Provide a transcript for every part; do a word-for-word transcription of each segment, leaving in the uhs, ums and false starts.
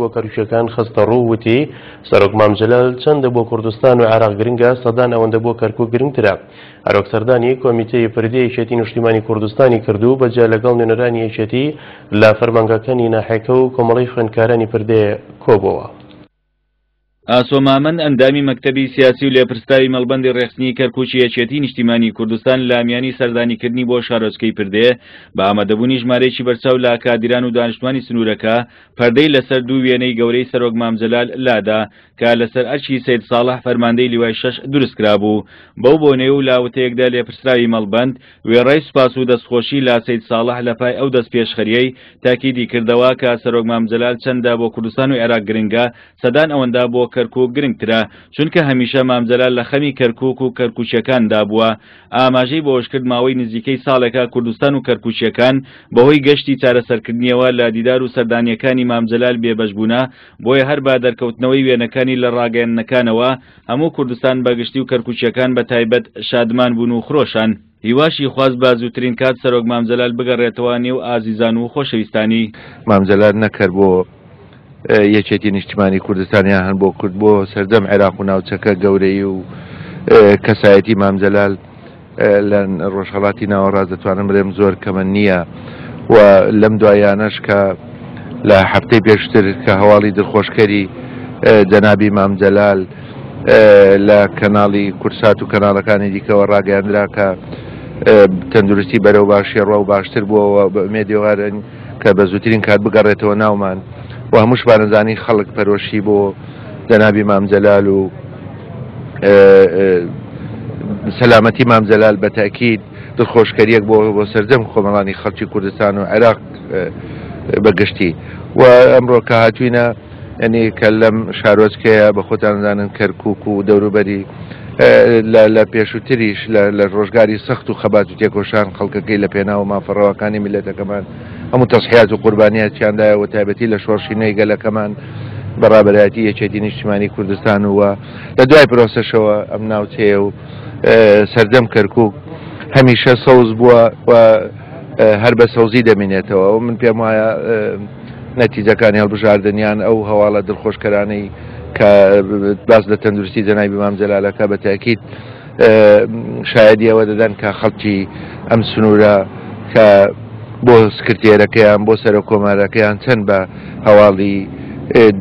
بۆ کەرکوکیەکان خستە ڕوو، وتی سەرۆک مام جەلال چەندە بۆ کوردستان و عێراق گرنگە، سەدان ئەوەندە بۆ کەرکوک گرنگترە. هەروەک سەردانی کۆمیتەی پردێ یەکێتی نیشتیمانی کوردستانی کردو بەجیا لەگەڵ نوێنەرانی یەکێتی لە فەرمانگەکانی ناحیەکە و کۆمەڵەی خوێندکارانی پردێ کۆبۆوە. ئاسۆ مامەند ئەندامی مەکتەبی سیاسی و لێپرسراوی مەڵبەندی ڕێکخستنی کەرکوکی یەکێتی نیشتیمانی کوردستان لە میانی سەردانیکردنی بۆ شارۆچکەی پردێ بە ئامادەبوونی ژمارەیەکی بەرچاو لە کادیران و دانیشتوانی سنوورەکە پەردەی لەسەر دوو وێنەی گەورەی سەرۆک مام جەلال لادا کە لەسەر ئەرکی سەید ساڵح فەرماندەی لیوای شەش دروست کرابوو. بەو بۆنەیە و لاوتەیەکدا لێپرسراوی مەڵبەند وێڕای سوپاس و دەستخۆشی لە سەید ساڵح لە پای ئەو دەست پێشخەریەی تاکیدی کردەوە کە سەرۆک مام جەلال چەندە بۆ کوردستان و عێراق گرنگە، سەدان ئەوەندە بۆ کەرکوک گرنگترە، چونکە هەمیشە مام جەلال لە خەمی کەرکوک و کەرکوچیەکاندا بووە. ئاماژەی بەوەش کرد ماوەی نزیکەی ساڵێکە کوردستان و کەرکوچیەکان بەهۆی گەشتی چارەسەرکردنیەوە لە دیدار و سەردانیەکانی مام جەلال بێبەش بوونە، بۆیە هەر بە دەرکەوتنەوەی وێنەکانی لە ڕاگەیاندنەکانەوە هەموو کوردستان بەگشتی و کەرکوچیەکان بە تایبەت شادمان بوون و خرۆشان. هیواشی خواست بە زووترین کات سەرۆک مام جەلال بگەڕێتەوە نێو ئازیزان و خۆشەویستانی. مام جەلال نەکرد بۆ یەکێتی نیشتیمانی کوردستان یان هەن بۆ کورد، بۆ سەردەم عێراق و ناوچەکە گەورەی و کەسایەتی مام جەلال لە ڕۆژهەڵاتی ناوەڕاست دەتوانم بڵێم زۆر کەمە نییە و لەم دوایانەش کە لە هەفتەی پێشتر کە هەواڵی دڵخۆشکەری جەنابی مام جەلال لە کەناڵی کورسات و کەناڵەکانی دیکەوە ڕاگەیاندرا کە تەندروستی بەرەو باشی ڕوا و باشتر بووەوە، بە ئومێدیوارن کە بە زووترین کات بگەڕێتەوە ناومان و هەمووشمان ئەزانین خەڵک پەرۆشی بۆ جەنابی مام جەلال و سەلامەتی مام جەلال بە تاکید دڵخۆشکەریەک بۆ بۆ سەرجەم کۆمەڵانی خەڵکی کوردستان و عێراق بەگشتی. و ئەمڕۆ کە هاتوینە یعنی کە لەم شارۆچکەیە بە خۆتان زانن کەرکوک و دەوروبەری لە پێشووتریش لە ڕۆژگاری سەخت و خەبات و تێکۆشان خەڵکەکەی لە پێناو مافەڕەواکانی میللەتەکەمان هەموو تەسحیات و قوربانیاتیاندایە و تایبەتی لە شۆڕشی نوێی گەلەکەمان بە ڕابەرایەتی یەکێتی نیشتیمانی کوردستان و لە دوای پرۆسەشەوە ئەم ناوچەیە و سەردەم کەرکوک هەمیشە سەوز بووە و هەر بە سەوزی دەمینێتەوە. و من پێم وایە نەتیجەکانی هەڵبژاردنیان ئەو هەواڵە دڵخۆشکەرانەی کە باس لە تەندروستی جەنابی مام جەلالەکە بە تاکید شایدی ئەوە دەدەن کە خەڵکی ئەم سنوورە کە بۆ سکرتێرەکەیان بۆ سەرۆک کۆمارەکەیان چەند بە هەواڵی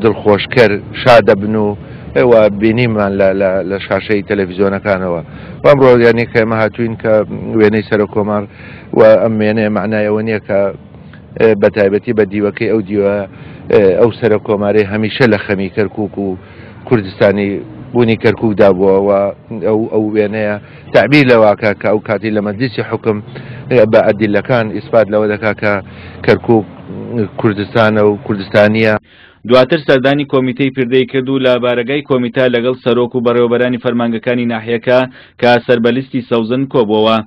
دڵخۆشکەر شادەبن و و بینیمان لە شاشەی تەلەڤیزیۆنەکانەوە. ئەمڕۆ یانی کە ئێمە هاتوین کە وێنەی سەرۆک کۆمار و ئەم وێنەیە معنای ئەوە نییە کە بە تایبەتی بە دیوەکەی ئەو دیوە ئەو سەرۆک کۆمارەی هەمیشە لە خەمی کەرکوک و کوردستانی بوونی کەرکوکدا بووە و ئەو ئەو وێنەیە تعبیر لەواکە کە ئەو کاتی لە مەجلیسی حکم بە ئەدیلەکان ئیسپات لەوە دەکا کە کەرکوک کوردستانە و کوردستانیە. دواتر سەردانی کۆمیتەی پردەی کرد و لە بارەگای کۆمیتە لەگەڵ سەرۆک و بەڕێوەبەرانی فەرمانگەکانی ناحیەکە کە سەر بە لیستی سەوزن کۆبووەوە.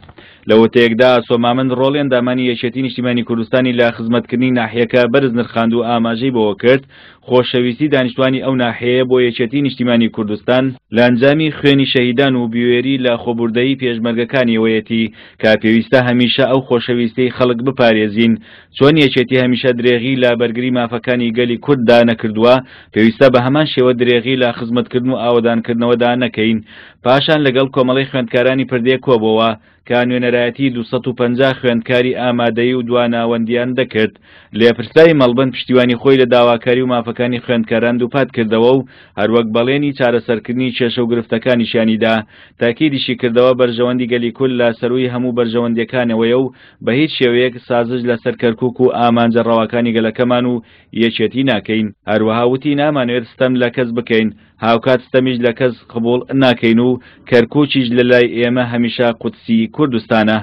لە وتەیەکدا ئاسۆ مامەند ڕۆڵی ئەندامانی یەکێتی نیشتیمانی کوردستانی لە خزمەتکردنی ناحیەکە بەرز نرخاند و ئاماژەی بەوە کرد خۆشەویستی دانیشتوانی ئەو ناحیەیە بۆ یەکێتی نیشتیمانی کوردستان لە ئەنجامی خوێنی شەهیدان و بوێری لە خۆبوردەیی پێشمەرگەکانیەوەیەتی کە پێویستە هەمیشە ئەو خۆشەویستی خەڵک بپارێزین. چۆن یەکێتی هەمیشە درێغی لە بەرگری مافەکانی گەلی کورددا نەکردووە، پێویستە بە هەمان شێوە درێغی لە خزمەتکردن و ئاوەدانکردنەوەدا نەکەین. پاشان لەگەڵ کۆمەڵەی خوێندکارانی پردێ کۆبەوە کە نوێنەرایەتی دوو سەد و پەنجا خوێندکاری ئامادەیی و دواناوەندیان دەکرد. لێپرسراوی مەڵبەند پشتیوانی خۆی لە داواکاری و مافەکانی خوێندکاران دووپات کردەوە و هەروەک بەڵێنی چارەسەرکردنی کێشە و گرفتەکانیشیانیدا. تاکیدیشی کردەوە بەرژەوەندی گەلی کورد لە سەرووی هەموو بەرژەوەندیەکانەوەیە و بە هیچ شێوەیەک سازش لەسەر کەرکوک و ئامانجە ڕەواکانی گەلەکەمان و یەکێتی ناکەین. هەروەها وتی نامانەوێت ستەم لە کەس بکەین، هاوکات ستەمیش لە کەس قبوڵ ناکەین و کەرکوکیش لە لای ئێمە هەمیشە قودسی کوردستانە.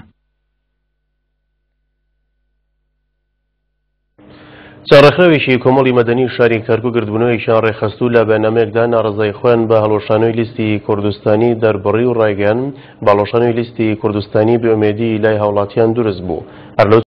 چەند ڕێکخراوێکی کۆمەڵی مەدەنی شاری کەرکوک گردبوونەوەیەکیان ڕێکخست و لە بەیاننامەیەکدا ناڕەزایی خۆیان بە هەڵوەشانەوەی لیستی کوردستانی دەربڕی و ڕایگەیان بە هەڵوەشانەوەی لیستی کوردستانی بێئومێدی لای هاوڵاتیان دروست بوو. هەر لەو